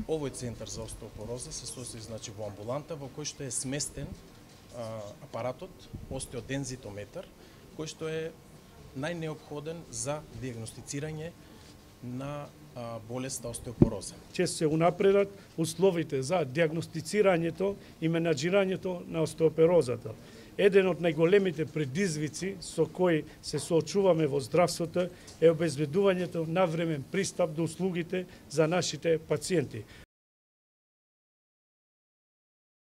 Овој центар за остеопороза се состои во амбуланта во кој што е сместен апаратот остеодензитометар, кој што е најнеопходен за диагностицирање на болеста остеопороза. Ќе се унапредат условите за диагностицирањето и менаџирањето на остеопорозата. Еден од најголемите предизвици со кои се соочуваме во здравството е обезбедувањето навремен пристап до услугите за нашите пациенти.